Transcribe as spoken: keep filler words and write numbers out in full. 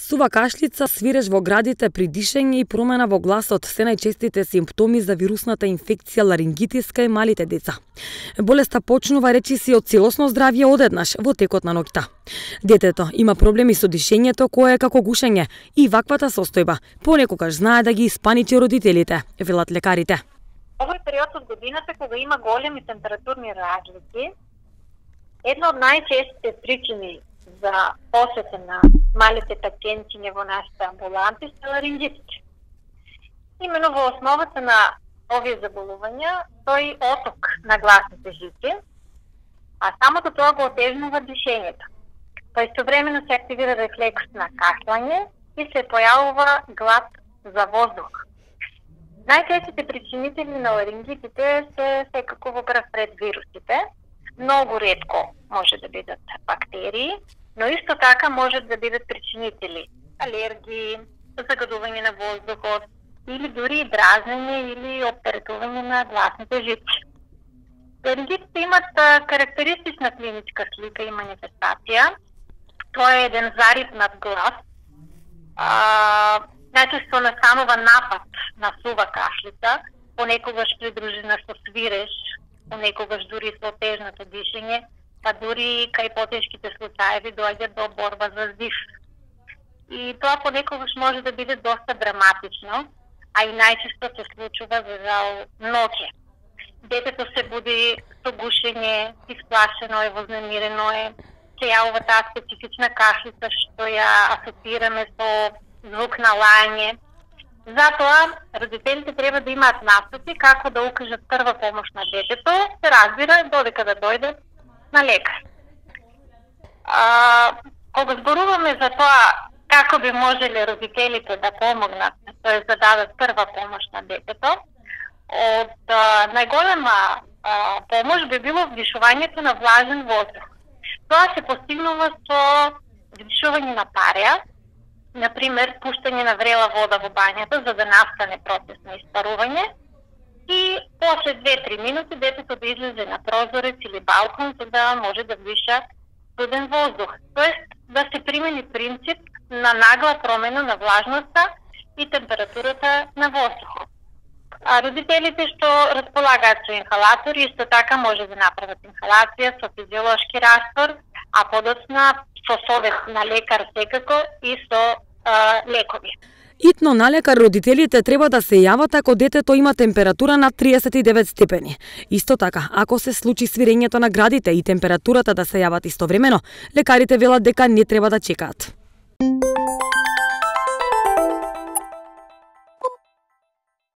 Сува кашлица, свиреж во градите при дишење и промена во гласот се најчестите симптоми за вирусната инфекција ларингитис кај малите деца. Болеста почнува речиси од целосно здравје одеднаш во текот на ноќта. Детето има проблеми со дишењето кое е како гушење и ваквата состојба понекогаш знае да ги испаничи родителите, велат лекарите. Овој период од годината кога има големи температурни разлики, една од најчестите причини за посета на малите пациентиња во нашите амбуланти се ларингитите. Имено во основата на овие заболувања стои оток на гласните жици, а самото тоа го отежнува дишењето. Па истовремено се активира рефлекс на кашлање и се појавува глад за воздух. Најчестите причинители на ларингитите се секако во прв ред вирусите. Многу ретко може да бидат бактерии, но исто така можат да бидат причинители алергии, загадување на воздухот или дури дразнење или оптеретување на гласните жици. Ларингитите имат карактеристична клиничка слика и манифестација. Тоа е еден зарипнат глас, а, најчесто настанува напад на сува кашлица, понекогаш придружена со свиреж, понекогаш дури со тежното дишење, па дури кај потешките случаеви доаѓа до борба за здив. И тоа понекогаш може да биде доста драматично, а и најчесто се случува за жал ноќе. Детето се буди со гушење, исплашено е, вознемирено е, се јавува таа специфична кашлица што ја асоциираме со звук на лајање. Затоа родителите треба да имаат настапи како да укажат прва помош на детето, се разбира додека да дојдат на лекар. А, кога зборуваме за тоа како би можеле родителите да помогнат, тоа да дадат прва помош на детето, од а, најголема а, помош би било вдишувањето на влажен воздух. Тоа се постигнува со вдишување на пареа, например пуштање на врела вода во бањата за да настане процес на испарување и после две-три минути детето да излезе на прозорец или балкон за да може да вдиша студен воздух. Тоест да се примени принцип на нагла промена на влажноста и температурата на воздухот. А родителите што располагаат со инхалатори исто така може да направат инхалација со физиолошки раствор, а подоцна со совет на лекар секако и со а, лекови. Итно на лекар родителите треба да се јават ако детето има температура над триесет и девет степени. Исто така, ако се случи свирењето на градите и температурата да се јават истовремено, лекарите велат дека не треба да чекаат.